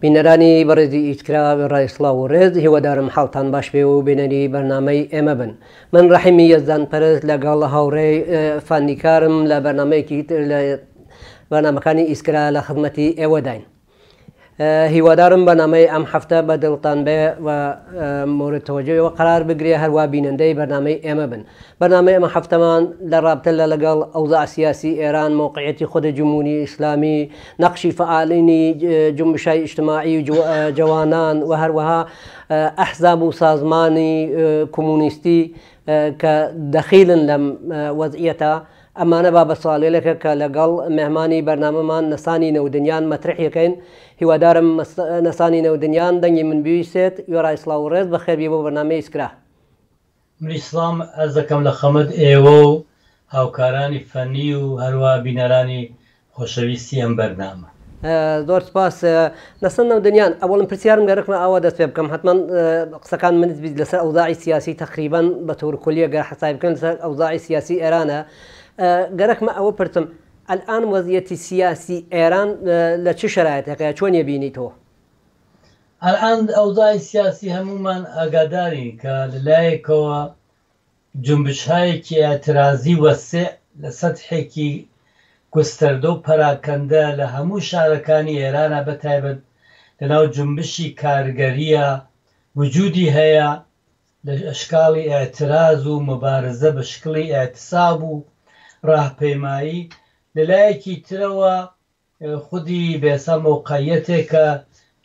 بینەرانی بەڕێزی ئیسکرا وێڕای سڵاو و ڕێز هیوادارم حاڵتان باش بێ و بینەری بەرنامەی ئێمە بن من ڕەحیمی یەزدان پەرست لەگەڵ هاوڕێی فەنیکارم لە بەرنامەیەکی تر لە بەرنامەکانی ئیسکرا لە خزمەتی ئێوەداین. هیوادارم بەرنامەی ئەم هەفتە بە دڵتان بێ و مورد تەوەجۆی ئێوە قەرار بگرێ هەروا بینەندەی بەرنامەی ئێمە بن. بەرنامەی ئەم هەفتەمان لە ڕابتە لە لەگەڵ ئەوزاع سیاسی ئێران، مەوقعیەتی خود جمهوری ئیسلامی، نەقشی فەعالینی جنبشای ئیجتماعی و جەوانان و هەروەها ئەحزاب و سازمانی کۆمۆنیستی کە دەخیلن لەم وەزعیەتە ئەمانە بابەت سواڵێلێکە کە لەگەڵ مێهمانی بەرنامەمان نەسانی نەودنیان مەترحی ئەکەین هیوادارم نەسانی نەودنیان دەنگی من بیسێت وێڕای سڵاو و ڕێز بەخێربی بۆ بەرنامەی ئیسکرا. منیش سڵام عەرز دەکەم لە خەمت ئێوە و هاوکارانی فەنی و هەروا بینەرانی خۆشەویستی ئەم بەرنامە. زۆر سپاس نەسەن نەودنیان ئەوەڵم پرسیارم گەرەکمە ئاوا دەست پێ بکەم حەتمەن قسەکان منت بیت لەسەر ئەوزاعی سیاسی تەقریبەن بە تۆر کلیە گەر حەسای بکەن لەسەر ئەوزاعی سیاسی ئێرانە گەرەکمە ئەوە پرسم ئەلئان وەزیەتی سیاسی ئێران لە چ شەرایتێکە چۆن یەبینی تۆ؟ ئەلئان ئەوزاعی سیاسی هەموومان ئاگادارین کە لە لایەکەوە جونبشهایەکی ئیعترازی وەسیع لە سەتحێکی گوستەردە و پەراکەندە لە هەموو شارەکانی ئێرانا بە تایبەت لە ناو جونبشی کارگەرییا وجودی هەیە لە ئەشکاڵی ئیعتراز و موبارزە بە شکڵی ئیعتساب و ڕاهپەیمایی لە لایەکی ترەوە خودی بێسا مەوقعیەتێکە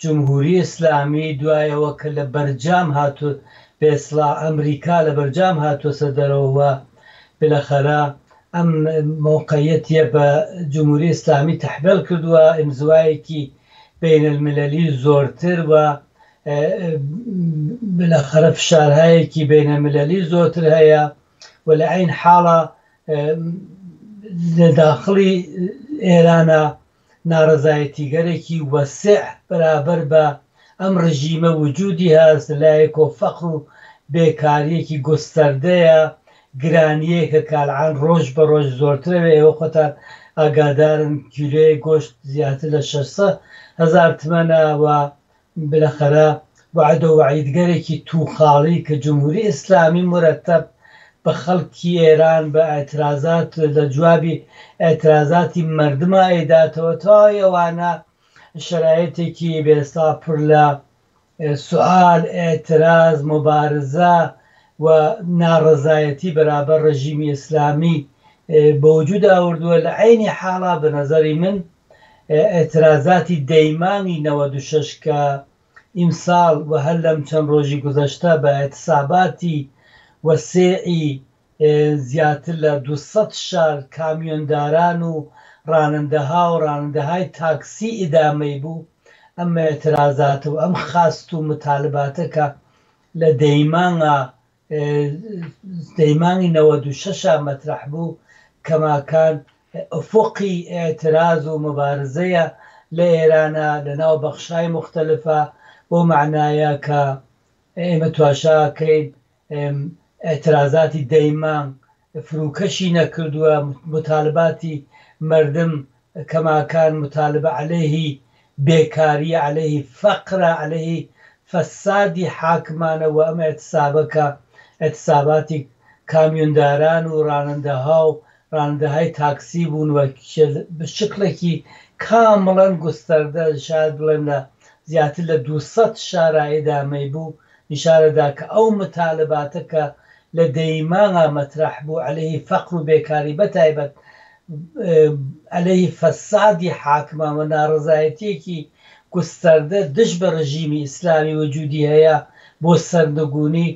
جمهوری ئیسلامی دوای ئەوە کە لە بەرجام هاتو بێسڵا ئەمریکا لە بەرجام هاتوەسە دەرەوە و بلەخەرە ئەم مەوقعیەتیە بە جمهوری ئیسلامی تەحمێڵ کردوە ئینزوایەکی بین المللی زۆرتر و بلەخەرە فشارهایەکی بین المللی زۆرتر هەیە و لە عەین حاڵا لە داخڵی ئێرانا ناڕەزایەتیگەرێکی وەسیع بەرابەر بە ئەم ڕژیمە وجودی هەس، لە لایەکۆ فەقر و بێکارییەکی گوستەردەیە، گرانییەکە کە ئەلعان ڕۆژ بە ڕۆژ زۆرترەوێ، ئێوە خۆتان ئاگادارن کیلۆیەک گۆشت زیاتر لە 600 هەزار تمەنە و بلەخەرە وەعدە و وەعیدگەرێکی توخاڵی کە جمهوری ئیسلامی مورەتەب بە خەڵکی ئێران بە ئیعترازات لە جوابی ئیعترازاتی مەردما ئەیداتەوە تەواوی ئەوانە شەرایتێکی بێستا پر لە سوئال ئیعتراز موبارزە و ناڕەزایەتی بەرابەر ڕژیمی ئیسلامی بە وجود ئاوردوە لە عەینی حاڵا بە نەزەری من ئیعترازاتی دەیمانگی 96 کە ئیمساڵ و هەر لەم چەند ڕۆژی گوزەشتە بە ئیعتساباتی وەسێعی زیاتر لە 200 شار کامیۆنداران و ڕانندەها و ڕانندەهای تاکسی ئیدامەی بوو ئەم ئیعترازاتە و ئەم خواست و متالباتە کە لە دەیمانگا دەیمانگی 96 مەترەح بوو کەماکان ئوفقی ئیعتراز و موبارزەیە لە ئێرانا لە ناو بەخشهای موختەلفا بەو مەعنایە کە ئێمە تواشا کەین ئیعترازاتی دەیمانگ فروکەشی نەکردووە موتالباتی مەردم کەماکان موتالبە عەلەیهی بێکاریە عەلەیهی فەقرە عەلەیهی فەسادی حاکمانە وە ئەم ئیعتسابە کە ئیعتساباتی کامیونداران و ڕانندەها و ڕانندەهای تاکسی بوون و بە شکڵێکی کامڵەن گوستەردە شاید بڵێم لە زیاتر لە 200 شارا ئیدامەی بوو نیشانە دا کە ئەو متالباتە کە لە دەیمانگا مەترەح بوو عەلەیهی فەقر و بێکاری بەتایبەت عەلەیهی فەسادی حاکمان و ناڕەزایەتیەکی گوستەردە دژ بە ڕژیمی ئیسلامی وجودی هەیە بۆ سەرنگونی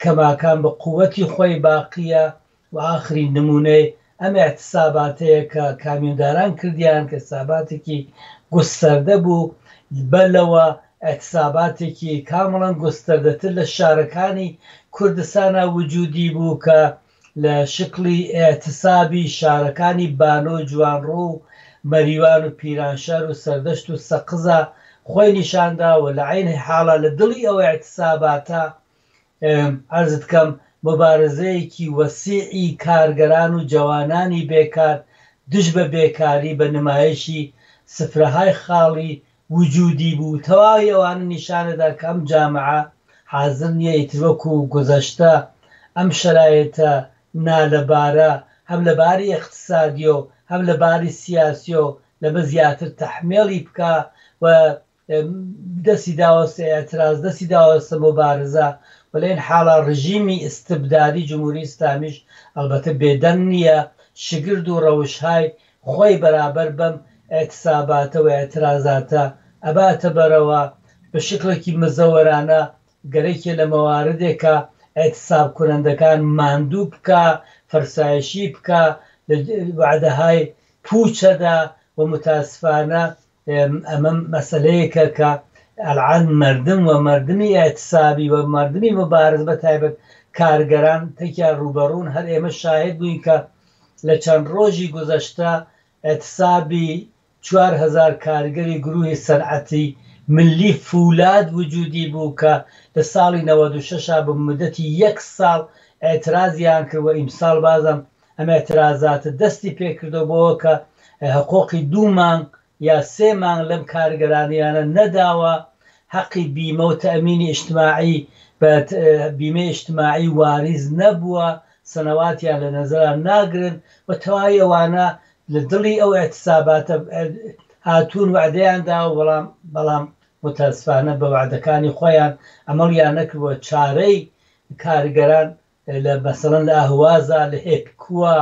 کەماکان بە قوەتی خۆی باقیە و ئاخرین نمونەی ئەم ئیعتساباتەیە کە کامیونداران کردیان کە ئیعتساباتێکی گوستەردە بوو بەر لەوە ئیعتساباتێکی کامڵەن گوستەردەتر لە شارەکانی کوردستانا وجودی بوو کە لە شکڵی ئیعتسابی شارەکانی بانۆ و جوانڕۆ و مەریوان و پیرانشار و سەردەشت و سەقزا خۆی نیشاندا و لە عەین حاڵا لە دڵی ئەو ئیعتساباتە عەرزت کەم موبارزەیەکی وەسیعی کارگەران و جەوانانی بێکار دژ بە بێکاری بە نمایشی سفرەهای خاڵی وجودی بوو، تەواوی ئەوانە نیشانەدا کە ئەم جامعە حازر نییە ئیتر وەکو گوزەشتە ئەم شەرایتە نالەبارە هەم لە باری ئیقتسادیەو هەم لە باری سیاسیەو لەمە زیاتر تەحمێڵی بکا و دەستی داوەسە ئێعتراز، دەستی داوەسە موبارزە و لە ئین حاڵا ڕژیمی ئیستبدادی جمهوری ئیسلامیش ئەڵبەتە بێدەنگ نییە، شگرد و ڕەوشهای خۆی بەرابەر بەم ئیعتساباتە و ئیعترازاتە ئەباتە بەرەوە، بە شکڵێکی مزەوەرانە گەرەکیە لە مەواردێکا ئیعتساب کونەندەکان ماندوو بکا، فەرسایشی بکا لە وەعدەهای پووچەدا و موتاسفانە ئەمە مەسەلەیەکە کە ئەلعان مەردم و مەردمی ئیعتسابی و مەردمی موبارز بە تایبەت کارگەران تێکیا ڕووبەڕوون. هەر ئێمە شاهد بووین کە لە چەند ڕۆژی گوزەشتە ئیعتسابی 4000 کارگەری گروهی سەنعەتی ملی فولاد وجودی بوو کە لە ساڵی 96 بە مدەتی یەک ساڵ ئیعترازیان کرد و ئیمساڵ بازم ئەم ئیعترازاتە دەستی پێکردەوە بۆ کە حقوقی 2 مانگ یا 3 مانگ لەم کارگەرانیانە نەداوە، حەقی بیمە و تەئمینی ئیجتماعی بە بیمەی ئیجتماعی واریز نەبووە، سەنەواتیان لە نەزەران ناگرن و تەواوی ئەوانە لە دڵی ئەو ئیعتساباتە هاتوون وعدەیان داوە، بەڵام متاسفانە بە وعدەکانی خۆیان عەمەڵیان نەکردووە. چارەی کارگەران لە مەسەڵەن لە ئەهوازا، لە هێپکووە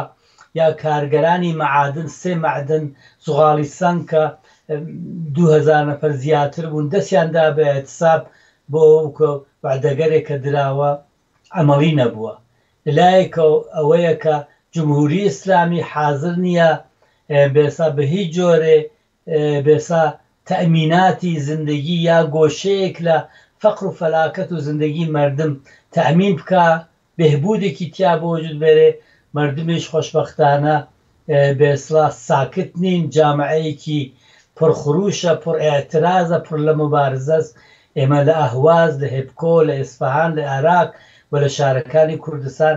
یا کارگەرانی مەعادن، 3 مەعدن زغاڵی سەنگ کە 2000 نەفەر زیاتر بوون دەستیان دا بە ئیعتساب بۆ ئەوە کە وعدەگەرێک کە دراوە عەمەڵی نەبووە. لەلایەکەوە ئەوەیە کە جمهوری ئیسلامی حاضر نییە بێسا بە هیچ جۆرێ بێسا تەئمیناتی زندگی یا گۆشەیەک لە فەقر و فەلاکەت و زندگی مەردم تەئمین بکا، بێهبودێکی تیا بۆ وجود بێرێ. مەردمیش خۆشبەختانە بێسڵا ساکت نین، جامعەیەکی پڕخروشە، پڕ ئیعترازە، پڕ لە موبارزەس. ئێمە لە ئەهواز، لە هێپکۆ، لە ئیسفەهان، لە عێراق و لە شارەکانی کوردستان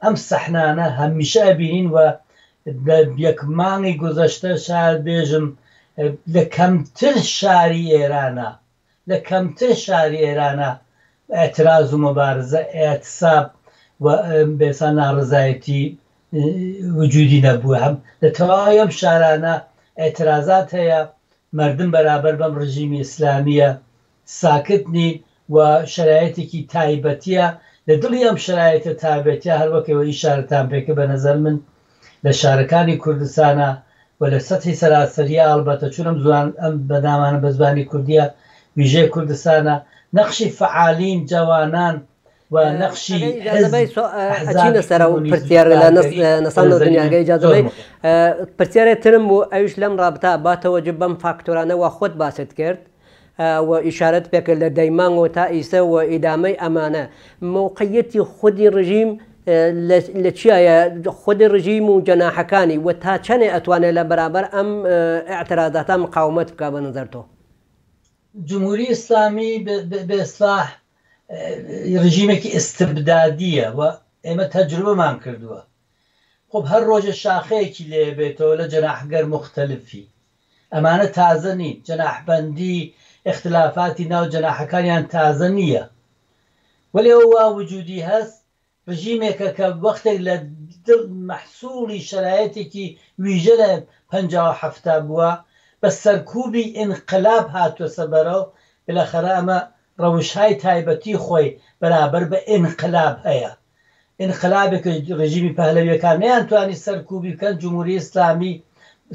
ئەم سەحنانە هەمیشە ئەبینین و لە یەک مانگی گوزەشتە شاید بێژم لە کەمتر شاری ئێرانە، لە کەمتر شاری ئێرانە ئیعتراز و موبارزە، ئیعتساب و بێسا ناڕزایەتی وجودی نەبووە. هەم لە تەواوی ئەم شارانە ئیعترازات هەیە، مەردم بەرابەر بەم ڕژیمی ئیسلامیە ساکت نین و شەرایەتێکی تایبەتیە. لە دڵی ئەم شەرایەتە تایبەتیە هەر وەک ئێوە ئیشارەتان پێکرد بە نەزەر من لە شارەکانی کوردستانە و لە سەتحی سەراسەریە، ئەڵبەتە چون ئەم زوان ئەم بەنامانە بە زبانی کوردیە ویژەی کوردستانە، نەقشی فەعالین جەوانان و نەقشی حزب ئەچینە سەر ئەو کۆمۆنیزمی پرسیارە لە کارگەری بە نەسان نەزەری دنیاگە من ئیجازە زۆر بەی مهمە. پرسیارێ ترم بوو ئەویش لەم ڕابطە با تەوەجه بەم فاکتۆرانە وا خۆت باست کرد و ئیشارەت پێکرد لە دەیمانگ و تا ئیسە و ئیدامەی ئەمانە مەوقعیەتی خودی ڕژیم لە چیایە خودی ڕژیم و جەناحەکانی و تا چەنێ ئەتوانێت لە بەرابەر ئەم ئیعترازاتە مقاومەت بکا بە نظر تۆ؟ جمهوری ئیسلامی بە ئیسلاح ڕژیمێکی ئیستبدادیە و ئێمە تەجروبەمان کردووە. خب هەر ڕۆژە شاخەیەکی لێ بێتەوە لە جەناحگەر مختلفی، ئەمانە تازە نین، جەناحبەندی ئیختلافاتی ناو جەناحەکانیان تازە نییە، وەلێ ئەو وا وجودی هەست ڕژیمێکە کە وەختێک لە دڵ مەحسوڵی شەرایەتێکی ویژە لە 57 بووە، بە سەرکوبی ئینقلاب هاتووە بەرەو، بالاخرە ئەمە ڕەوشهای تایبەتی خۆی بەرابەر بە ئینقلاب هەیە. ئینقلابێک ڕژیمی پەهلەویەکان نەیانتوانی سەرکوبی بکەن، جمهوری ئیسلامی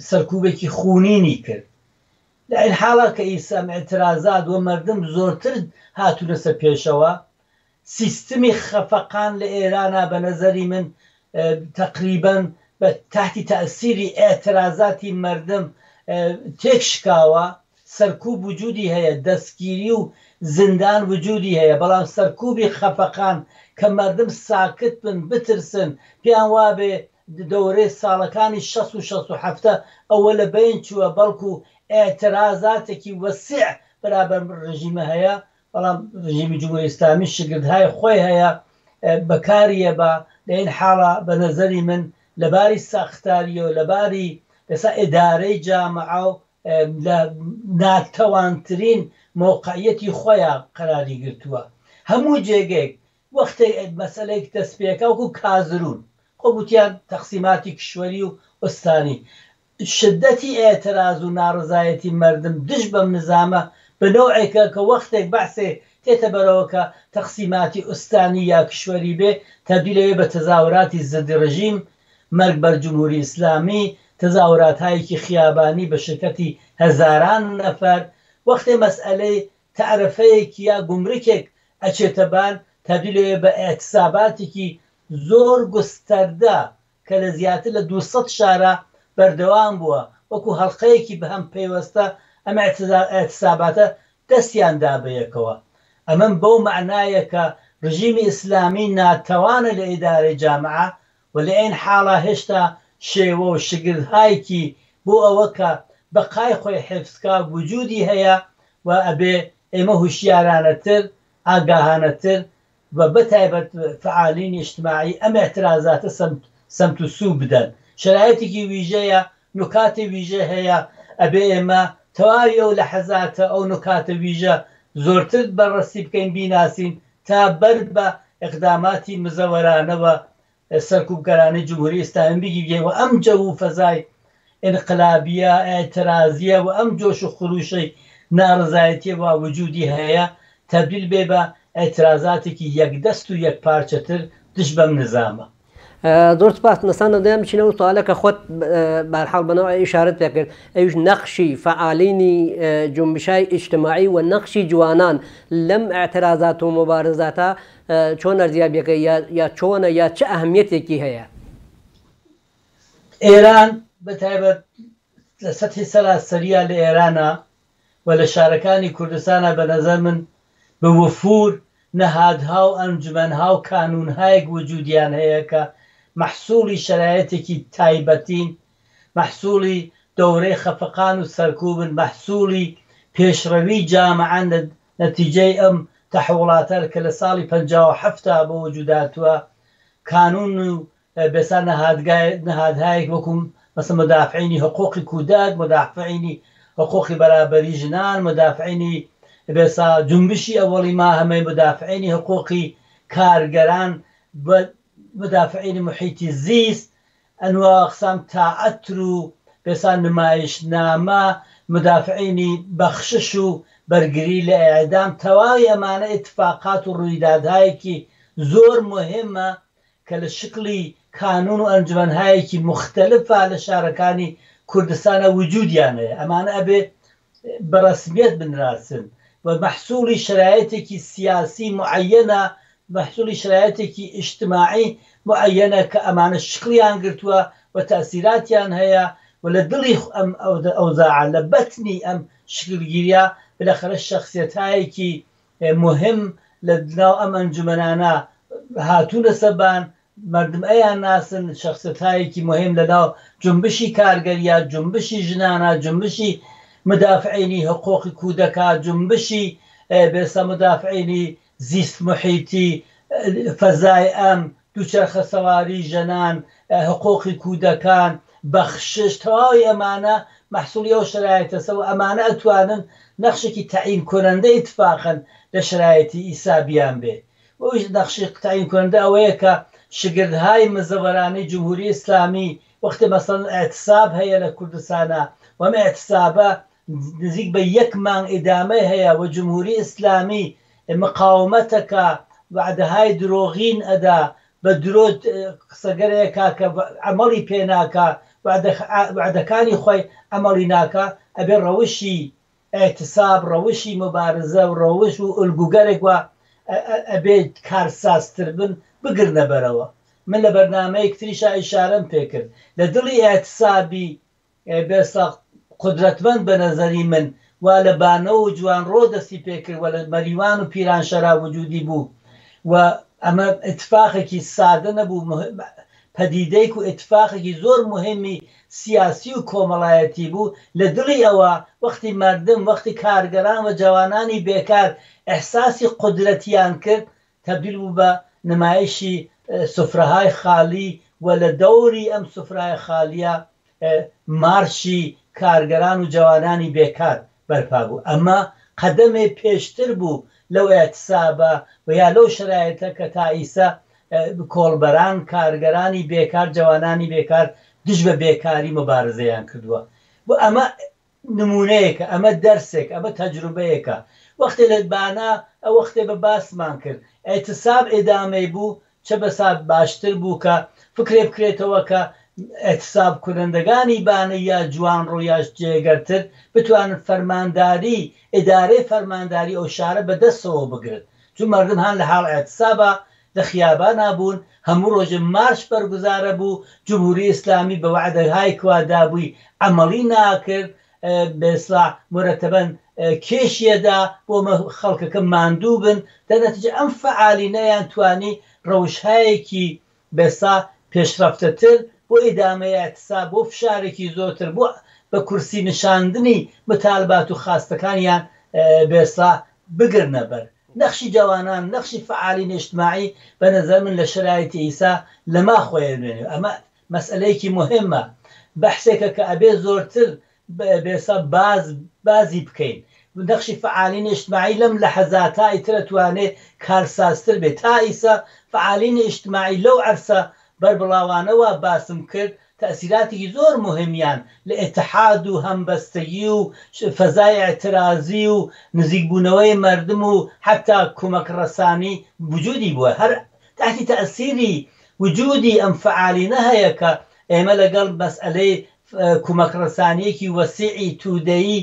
سەرکوبێکی خونینی کرد. لە این حاڵا کە ئیسا ئیعترازات و مەردم زۆرتر هاتوونەسە پێشەوە، سیستمی خەفەقان لە ئێرانە بە نەزەری من تەقریبەن بە تحتی تەئسیری ئیعترازاتی مەردم تێک شکاوە، سەرکوب وجودی هەیە، دەستگیری و زندان وجودی هەیە، بەڵام سەرکوبی خەفەقان کە مەردم ساکت بن، بترسن، پێیان وابێ دەورەی ساڵەکانی 60 و 67 ئەوە لە بین چووە، بەڵکو ئیعترازاتێکی وەسیع بەرابەر ڕژیمە هەیە. بەڵام ڕژیمی جمهوری ئیسلامی شگردهای خۆی هەیە، بەکاریە بە لە این حاڵا بە نەزەری من لەباری ساختاریەوە، لەباری ئێستا ئیدارەی جامعە و لە ناتەوانترین مەوقعیەتی خۆیا قەراری گرتووە. هەموو جێگەیەک وەختێک مەسەلەیەک دەست پێکا وەکوو کازرون خۆ گوتیان تەقسیماتی کشوەری و ئوستانی شدەتی ئێتراز و ناڕەزایەتی مەردم دژ بەم نزامە بە نەوعێکە کە وەختێک بەعسێ تێتە بەرەوە کە تەقسیماتی ئوستانی یا کشوەری بێ تەبدیل ئەوێ بە تەزاهوراتی زد ڕژیم مەرگ بەر جمهوری ئیسلامی، تەزاهوراتهایەکی خیابانی بە شرکەتی هەزاران نەفەر، وەختێ مەسئەلەی تەعرەفەیەک یا گومرکێک ئەچێتە بان تەبدیل ئەوێ بە ئیعتساباتێکی زۆر گوستەردە کە لە زیاتر لە 200 شارا بەردەوام بووە، وەکو هەڵقەیەکی بەهەم پەیوەستە ئەم ئیعتساباتە دەستیان دا بەیەکەوە. ئەمەم بەو مەعنایە کە ڕژیمی ئیسلامی ناتەوانە لە ئیدارەی جامعە و لە عەین حاڵا هێشتا شێوە و شگردهایکی بۆ ئەوە کە بەقای خۆی حێفز کا وجودی هەیە و ئەبێ ئێمە هوشیارانەتر، ئاگاهانەتر و بە تایبەت فەعالینی ئیجتماعی ئەم ئیعترازاتە سەمت سەمت و سوو بدەن. شەرایتێکی ویژەیە، نوکاتی ویژە هەیە، ئەبێ ئێمە تەواوی ئەو لەحەزاتە، ئەو نوکاتە ویژە زۆرتر بەرڕەسی بکەین، بیناسین تا بەر بە ئیقداماتی مزەوەرانە و سەرکوبگەرانەی جمهوری ئیسلامی بگیرێ و ئەم جەو و فەزای ئینقلابیە، ئیعترازیە و ئەم جۆش و خروشەی ناڕەزایەتیە وا وجودی هەیە تەبدیل بێ بە ئیعترازاتێکی یەکدەست و یەکپارچەتر دژ بەم نزامە. زۆر سپاس نەسان دەیان بچینە ئەو سوالە کە خۆت بەهەرحاڵ بەنەوە ئیشارەت پێ کرد ئەویش نەقشی فەعالینی جونبشای ئیجتماعی و نەقشی جوانان لەم ئیعترازات و موبارزاتە چۆن ئەرزیابیەکەی یا چۆنە یا چ ئەهمیەتێکی هەیە؟ ئێران بە تایبەت لە سەتحی سەراسەرییا لە ئێرانا و لە شارەکانی کوردستانا بە نەزەر من بە وفور نەهادها و ئەنجومەنها و کانوونهایەک وجوودیان هەیە کە مەحسووڵی شەرایتێکی تایبەتین، مەحسووڵی دەورەی خەفەقان و سەرکووبن، مەحسووڵی پێشڕەوی جامعەن لە نەتیجەی ئەم تەحوڵاتە کە لە ساڵی 57 تا بە وجوود هاتووە کانوون و بێسا نەهادگای نەهادهایەک وەکوو مەسەلەن مودافعینی حقووقی کوودەک، مودافعینی حقووقی بەرابەری ژنان، مودافعینی بێسا جونبشی ئەوەڵی ماهەمەی، مودافعینی حقووقی کارگەران و مودافعینی موحیتی زیست، ئەنواع و ئەقسام تائەتر و بێسا نمایشنامە، مودافعینی بەخشش و بەرگری لە ئێعدام، تەواوی ئەمانە ئیتفاقات و ڕوویدادهایەکی زۆر موهیمە کە لە شکڵی کانوون و ئەنجومەنهایەکی موختەلفا لە شارەکانی کوردستانا وجوودیان هەیە، ئەمانە ئەبێ بە ڕەسمیەت بنراسن و مەحسووڵی شەرایتێکی سیاسی موعەیەنە، مەحسووڵی شەرایتێکی ئیجتماعی موعەیەنە کە ئەمانە شکڵیان گرتووە و تەئسیراتیان هەیە و لە دڵی ئەم ئەوزاعە، لە بەتنی ئەم شکلگیریە بلەخەرە شەخسیەتهایەکی موهم لە ناو ئەم ئەنجومەنانە هاتوونە سەبان، مەردم ئەیان ناسن، شەخسیەتهایەکی موهم لە ناو جونبشی کارگەریە، جونبشی ژنانە، جونبشی مدافعینی حقوقی کودەکا، جونبشی بێسە مدافعینی زیست محیتی، فەزای ئەم، دووچەرخە سەواری ژەنان، حقوقی کودەکان، بەخشش، تەواوی ئەمانە مەحسوڵی ئەو شەرایتەسە و ئەمانە ئەتوانن نەخشێکی تەعین کونەندە ئیتفاقەن لە شەرایتی ئیسا بیان بێ و ئەویش نەخشی تەعین کونەندە ئەوەیە کە شگردهای مزەوەرانەی جمهوری ئیسلامی وەختێ مەسەڵەن ئیعتساب هەیە لە کوردستانا و ئەم ئیعتسابە نزیک بە یەک مانگ ئیدامەی هەیە و جمهوری ئیسلامی مقاومەتەکا وەعدەهای درۆغین ئەدا بە درۆ قسەگەرێ کا کە عەمەڵی پێ ناکا وەعدەکانی خۆی عەمەڵی ناکا ئەبێ ڕەوشی ئیعتساب ڕەوشی موبارزە و ڕەوش و ئولگوگەرێک وا ئەبێ کارسازتر بن بگرنە بەرەوە من لە بەرنامەیەک تریشا ئیشارەم پێ کرد لە دڵی ئیعتسابی بێسا قودرەتمەند بە نەزەری من وا لە بانۆ و جوانڕۆ دەستی پێ کرد و لە مەریوان و پیرانشەرا وجوودی بوو و ئەمە ئیتفاقێکی سادە نەبوو پەدیدەیک و ئیتفاقێکی زۆر موهیمی سیاسی و کۆمەڵایەتی بوو لە دڵی ئەوە وەختی مەردم وەختی کارگەران و جەوانانی بێکار ئیحساسی قودرەتیان کرد تەبدیل بوو بە نمایشی سفرەهای خالی و لە دەوری ئەم سفرای خالیە مارشی کارگەران و جەوانانی بێکار بەرپا بوو. ئەمە قەدەمێ پێشتر بوو لەو ئیعتسابە و یا لەو شەرایتە کە تا ئیسە کۆڵبەران، کارگەرانی بێکار، جەوانانی بێکار دژ بە بێکاری موبارزەیان کردووە. و ئەمە نموونەیەکە، ئەمە دەرسێکە، ئەمە تەجروبەیەکە. وەختێ لە بانە ئەو وەختێ بە باسمان کرد ئیعتساب ئیدامەی بوو، چە بەسا باشتر بوو کە فکرێ بکرێتەوە کە ئیعتساب کونەندەگانی بانە یا جوانڕۆ یاش جێگەرتر بتوانن فەرمانداری ئیدارەی فەرمانداری ئەو شارە بە دەسەوە بگرن چون مەردم هان لە حاڵ ئیعتسابا لە خیابانا بوون هەموو ڕۆژێ مارش بەرگوزارە بوو جمهوری ئیسلامی بە وەعدەهای کوا دابووی عەمەڵی ناکرد بە ئیسڵاح مورەتەبەن کێشیە دا بۆ مە خەڵکەکە ماندوو بن دە نەتیجە ئەم فەعالینەیان توانی ڕەوشهایەکی بە ئیسڵاح پێشڕەفتەتر بۆ ئیدامەی ئیعتساب بۆ فشارێکی زۆرتر بۆ بە کورسی نشاندنی متالبات و خاستەکانیان بە ئیسڵاح بگرنە بەر. نەخشی جەوانان، نەخشی فەعالین ئیجتماعی بە نەزەر من لە شەرایتی ئیسا لەما خۆێ نوێنێ. ئەمە مەسئەلەیەکی موهیمە، بەحسێکە کە ئەبێ زۆرتر بێسا باز بازی بکەین. نەخشی فەعالین ئیجتماعی لەم لەحەزاتا ئیتر ئەتوانێ کارسازتر بێ. تا ئیسە فەعالین ئیجتماعی لەو عەرسە بەربڵاوانە وا باسم کرد تەئسیراتێکی زۆر موهیمیان لە ئیتحاد و هەمبەستەگی و فەزای ئیعترازی و نزیک بوونەوەی مەردم و حەتا کومەک ڕەسانی وجودی بووە. هەر تەحتی تەئسیری وجودی ئەم فەعالینە هەیە کە ئێمە لەگەڵ مەسئەلەی کومەک ڕەسانیەکی وەسیعی تودەیی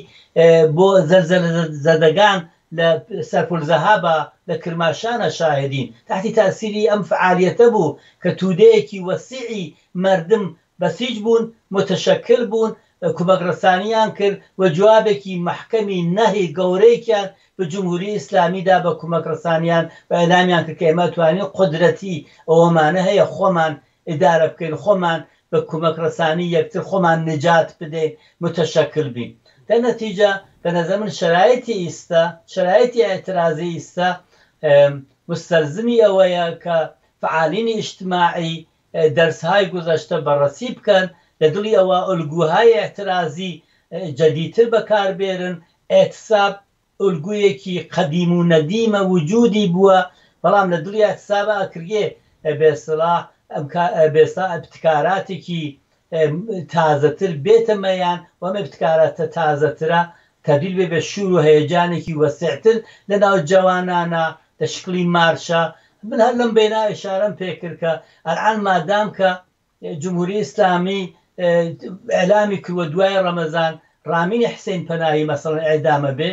بۆ زەلزەلە زەدەگان لە سەرپولزەهابا لە کرماشانە شاهدین. تەحتی تەئسیری ئەم فەعالیەتە بوو کە تودەیەکی وەسیعی مەردم بەسیج بوون، موتەشەکل بوون، کومەک ڕەسانیان کرد و جوابێکی مەحکەمی نەهی گەورەیکیان بە جمهوری ئیسلامی دا بە کومەک ڕەسانیان و ئیعلامیان کرد کە ئێمە ئەتوانین قودرەتی ئەوەمانە هەیە خۆمان ئیدارە بکەین، خۆمان بە کومەک ڕەسانی یەکتر خۆمان نجات بدەین، موتەشەکل بین. دەر نەتیجە بە نەزەر من شەرایتی ئیستا، شەرایتی ئیعترازی ئیستا موستەلزمی ئەوەیە کە فەعالینی ئیجتماعی دەرسهای گوزەشتە بەڕەسی بکەن، لە دڵی ئەوە ئۆلگوهای ئیعترازی جەدیدتر بەکار بێرن، ئیعتساب ئۆلگویەکی قەدیم و نەدیمە وجودی بووە، بەڵام لە دڵی ئیعتسابا ئەکرێ بێسڵاح بێسڵاح ئیبتکاراتێکی تازەتر بێتە مەیان و ئەم ئیبتکاراتە تازەترە تەبدیل بێ بە شور و هەیەجانێکی وەسیعتر لە ناو جەوانانا لە شکڵی مارشا. من هەر لەم بەینا ئیشارەم پێ کرد کە ئەلئان مادام کە جمهوری ئیسلامی ئیعلامی کردوە دوای ڕەمەزان ڕامینی حسین پەناهی مەسەڵەن ئیعدامە بێ،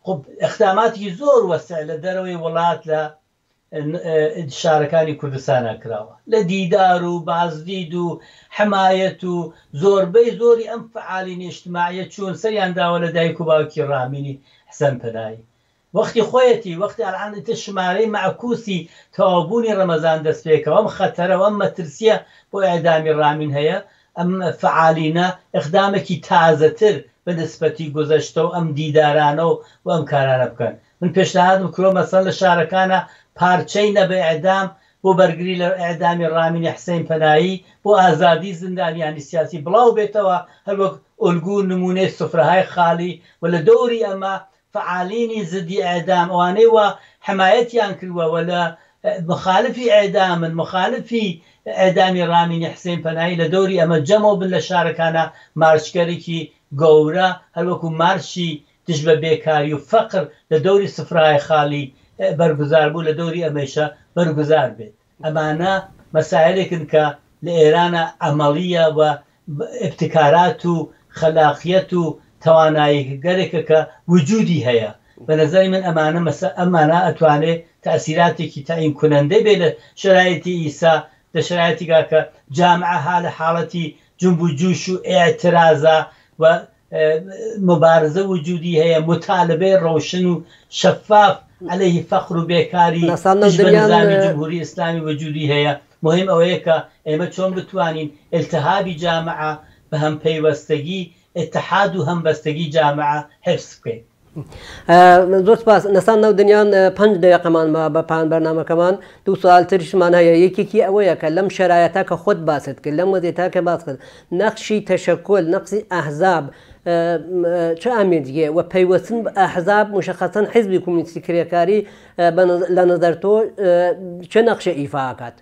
خب ئیقداماتێکی زۆر وەسیع لە دەرەوەی وڵات لە شارەکانی کوردستانا کراوە لە دیدار و بازدید و حمایەت و زۆربەی زۆری ئەم فەعالینە ئیجتماعیە چوون سەریان داوە لە دایک و باوکی ڕامینی حسەن پەناهی وەختی خۆیەتی وەختی ئەلعان ئیتر شمارەی مەعکوسی تەواوبوونی ڕەمەزان دەست پێکەوە ئەم خەتەرە و ئەم مەترسیە بۆ ئیعدامی ڕامین هەیە ئەم فەعالینە ئیقدامێکی تازەتر بە نسبەتی گوزەشتە و ئەم دیدارانە و ئەم کارانە بکەن من پێشنهادم کردوە مەسەڵەن لە شارەکانا پارچەی نە بە ئیعدام بۆ بەرگری لە ئیعدامی ڕامینی حسین پەنایی بۆ ئازادی زیندانیانی سیاسی بڵاو بێتەوە هەروەک ئۆلگو و نمونەی سفرەهای خالی و لە دەوری ئەمە فەعالینی زدی ئیعدام ئەوانەی وا حمایەتیان کردوە و لە مخالفی ئیعدامن مخالفی ئیعدامی ڕامینی حسین پەنایی لە دەوری ئەمە جەمەو بن لە شارەکانا مارشگەرێکی گەورە هەروەکو مارشی دژ بە بێکاری و فەقر لە دەوری سفرای خالی بەرگوزار بوو لە دەوری ئەمەیشە بەرگوزار بێت. ئەمانە مەسایلێکن کە لە ئێرانا عەمەڵییە و ئیبتکارات و خەلاقیەت و تەواناییگەلێکە کە وجوودی هەیە. بە نەزەری من ئەمانە مەسە ئەمانە ئەتوانێ تەئسیراتێکی تەعین کونەندەی بێ لە شەرایتی ئیسا لە شەرایتیگا کە جامعە ها لە حاڵەتی جونب و جوش و ئیعترازا و موبارزە وجودی هەیە، موتالبەی ڕەوشن و شەفاف عەلەیهی فەقر و بێکاری ناساندنەوە دژ بە دنیان نزامی جمهوری ئیسلامی وجودی هەیە، موهیم ئەوەیە کە ئێمە چۆن بتوانین ئیلتهابی جامعە بە هەمپەیوەستەگی، ئیتحاد و هەمبەستەگی جامعە حفز بکەین. زۆر سپاس نەسان ناو دنیان 5 دقیقەمان ما بە پان بەرنامەکەمان. دوو سوال تریشمان هەیە. یەکێکی ئەوەیە کە لەم شەرایەتە کە خۆت باست کرد، لەم وەزیەتە کە باس کرد، نەخشی تەشەکول، نەقسی ئەحزاب چ ئامێدیە و پەیوەستن بە ئەحزاب مشخصا حزبی کۆمۆنیستی کرێکاری لە نظر تۆ چه نەخشە ئیفا ئەکات؟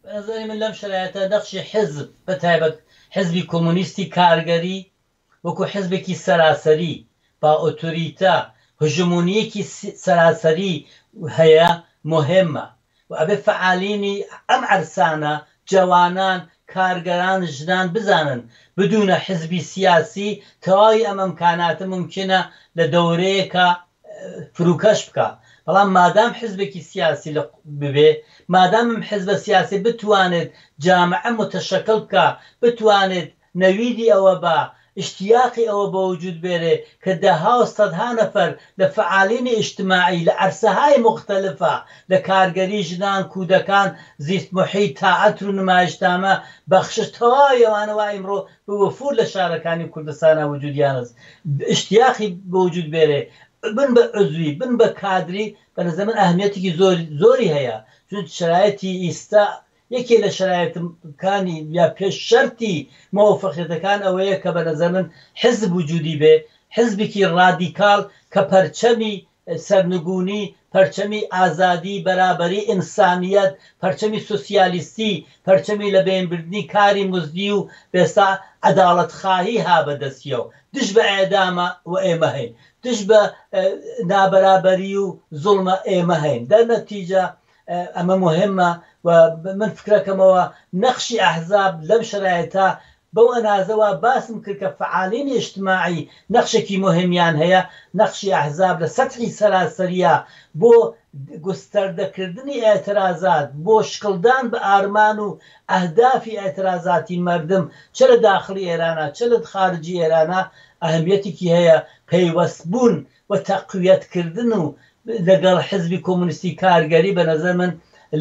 بە نظری من لەم شەرایەتە نەخشی حزب بە تایبەت حزبی کۆمۆنیستی کارگەری وەکو حزبێکی سەراسەری با ئۆتۆریتە هژمونیەکی سەراسەری هەیە مهمە و ئەبێ فعالینی ئەم عەرسانە جەوانان کارگەران ژنان بزانن بدونە حزبی سیاسی تەواوی ئەم ئەمکاناتە ممکنە لە دەورەیەکە فروکەش بکە. بەڵام مادام حزبێکی سیاسی ببێ، مادام ئەم حزبە سیاسی بتوانێت جامعە متشکل بکە، بتوانێت نەویدی ئەوە بە اشتیاقی ئەوە بە وجود بێرێ کە دەها و سەدها نەفەر لە فعالینی ئیجتماعی لە عەرسەهای مختلفە لە کارگەری ژنان کودەکان زیست محیط تائەتر و نمایشنامە بەخشش تەواوی ئەوانە وا ئیمڕۆ بە وەفور لە شارەکانی کوردستانە وجودیانست اشتیاقی بە وجود بێرێ بن بە عزوی بن بە کادری بە نظر من ئەهمیەتێکی زۆری هەیە. چون شرایطی ئیستا یەکێ لە شرایطەکانی یا پێش شەرتی مەوفقیەتەکان ئەوەیە کە بە نظر من حزب وجودی بێ، حزبێکی ڕادیکاڵ کە پەرچەمی سەرنگونی، پەرچەمی ئازادی، بەرابەری ئینسانیەت، پەرچەمی سوسیالیستی، پەرچەمی لە بەینبردنی کاری مزدی و بێسا عەداڵەتخواهی ها بەدەستیەوە، دژ بە ئێدامە و ئێمە هەین، دژ بە نابەرابەری و زوڵمە ئێمە هەین. دەر نەتیجە ئەمە مهمە و من فکرەکەمەوە نەخشی ئەحزاب لەم شرایطە بەو ئەنازەوە باسم کرد کە فعالین ئیجتماعی نەخشێکی مهمیان هەیە. نەخشی ئەحزاب لە سەطحی سەراسەریە بۆ گستەردەکردنی ئاعترازات، بۆ شکڵدان بە ئارمان و ئەهدافی ئاعترازاتی مردم چ لە داخلی ئێرانە چ لە خارجی ئێرانە ئەهمیەتێکی هەیە. پەیوەستبوون و تەقویەتکردن و لەگەڵ حزبی کۆمۆنیستی کارگەری بە نظر من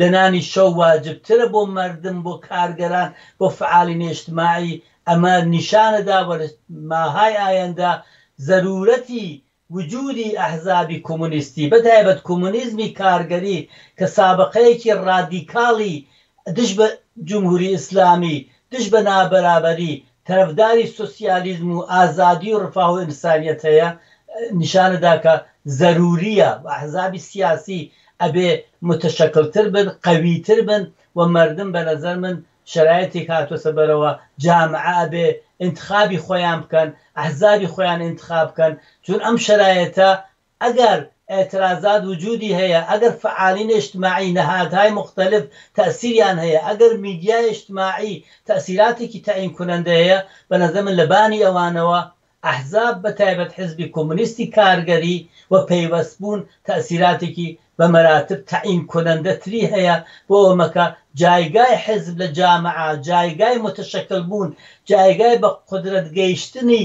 لە نانی شەو واجبترە بۆ مردم، بۆ کارگەران، بۆ فعالین ئیجتماعی. ئەمە نیشانەدا و لە ماهای ئایەندە زەرورەتی وجودی ئەحزابی کۆمۆنیستی بەتایبەت کۆمۆنیزمی کارگەری کە سابقەیەکی ڕادیکاڵی دژ بە جمهوری ئیسلامی، دژ بە نابەرابەری، طرفداری سوسیالیزم و ئازادی و ڕفاه و ئینسانیەت هەیە، نیشانەدا کە زەروریە و ئەحزابی سیاسی ئەبێ متشکلتر بن، قەویتر بن و مردم بە نظر من شرایطێک هاتووەسە بەرەوە جامعە ئەبێ انتخابی خۆیان بکەن، ئەحزابی خۆیان انتخاب بکەن. چون ئەم شرایطە ئەگەر اعتراضات وجودی هەیە، ئەگەر فعالین اجتماعی نهادهای مختلف تأثیریان هەیە، ئەگەر میدیای اجتماعی تأثیراتێکی تەعین کننده هەیە، بە نظر من لەبانی ئەوانەوە ئەحزاب بە تایبەت حزبی کۆمۆنیستی کارگەری و پەیوەستبوون تأثیراتێکی بە مەراتب تەعین کننده تری هەیە بۆ ئەومەکە جایگای حزب لە جامعە، جایگای متشکل بوون، جایگای بە قدرەت گەیشتنی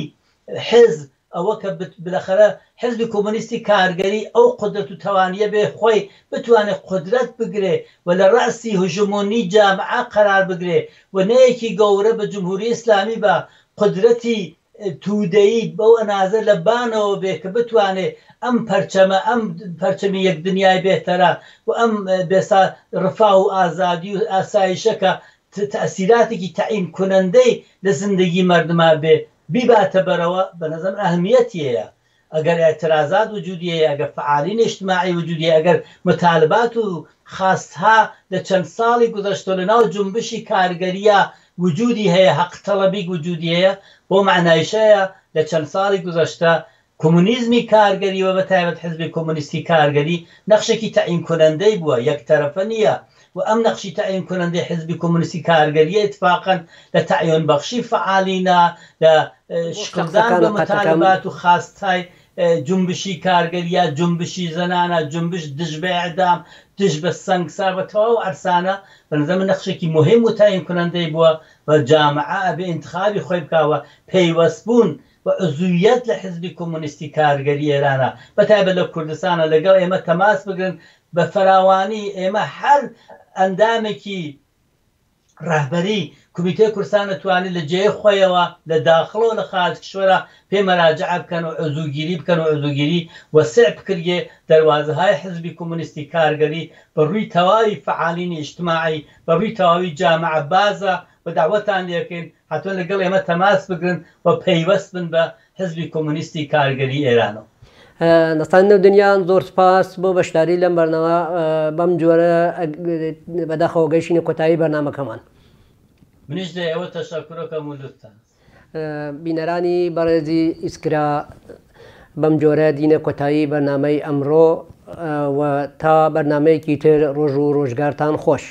حزب، ئەوە کە بالاخرە حزبی کۆمۆنیستی کارگەری ئەو قدرەت و توانیە بێ خۆی بتوانێت قدرەت بگرێ و لە ڕەسی هژمۆنی جامعە قەرار بگرێ و نەیەکی گەورە بە جمهوری ئیسلامی بە قدرەتی تودەیی بەو ئەنازە لە بانەوە بێ کە بتوانێت ئەم پەرچەمە، ئەم پەرچەمی یەک دنیای بێتەرە و ئەم بێسا ڕفاه و ئازادی و ئاسایشەکە تەئسیراتێکی تەعین کنەندەی لە زندگی مردما بێ بیباتە بەرەوە، بە نظر من ئەهمیەتی هەیە. ئەگەر اعتراضات وجودی هەیە، ئەگەر فعالین اجتماعی وجودی هەیە، ئەگەر مطالبات و خواستها لە چەند ساڵی گذشتە لە ناو جنبشی کارگەریە وجودی هەیە، حەق تەڵەبی وجودی هەیە، بۆ معنایشەیە لە چەند ساڵی گذشتە کۆمۆنیزمی کارگەری و بە تایبەت حزبی کۆمۆنیستی کارگەری نەخشێکی تەعین کنەندەی بووە، یەک تەرەفە نییە. و ئەم نەخشی تەعین کنەندەی حزبی کۆمۆنیستی کارگەریە اتفاقا لە تەعیون بەخشی فعالینا، لە شکڵدان بە مطالبات و خواستهای جنبشی کارگەریە، جنبشی زەنانە، جنبش دژ بە ئێعدام، دژ بە سەنگسار بە تەواو عەرسانە بە نظر من نەخشێکی مهم و تەعین کنەندەی بووە و جامعە ئەبێ انتخابی خۆی بکاوە پەیوەستبوون و عضویەت لە حزبی کۆمۆنیستی کارگەری ئێرانە بەتایبەت لە کوردستانە لەگەڵ ئێمە تەماس بگرن بە فراوانی. ئێمە هەر ئەندامێکی ڕەهبەری کومیتەی کوردستان ئەتوانێ لە جێ خوەیەوە لە داخڵەوە لە خارج کشوەرا پێ مەراجعە بکەن و عزوگیری بکەن و عزوگیری وەسع بکریێ دەروازەهای حزبی کۆمۆنیستی کارگەری بە ڕووی تەواوی فەعالینی ئیجتماعی بە ڕووی تەواوی جامعە بازە و دەعوەتان لێکەین حەتمەن لەگەڵ ئێمە تەماس بگرن و پەیوەست بن بە حزبی کۆمۆنیستی کارگەری ئێرانەوە. دەستان نێو دنیان زۆر سپاس بۆ بەشداری لەم بەرنامە بەم جۆرە بەداخەوە گەیشتینە کۆتایی بەرنامەکەمان. منیش لە ئێوە تەشەکورەکەم و لوتفتان. بینەرانی بەڕێزی ئیسکرا بەم جۆرە دینە کۆتایی بەرنامەی ئەمڕۆ و تا بەرنامەیەکی تر ڕۆژ و ڕۆژگارتان خۆش.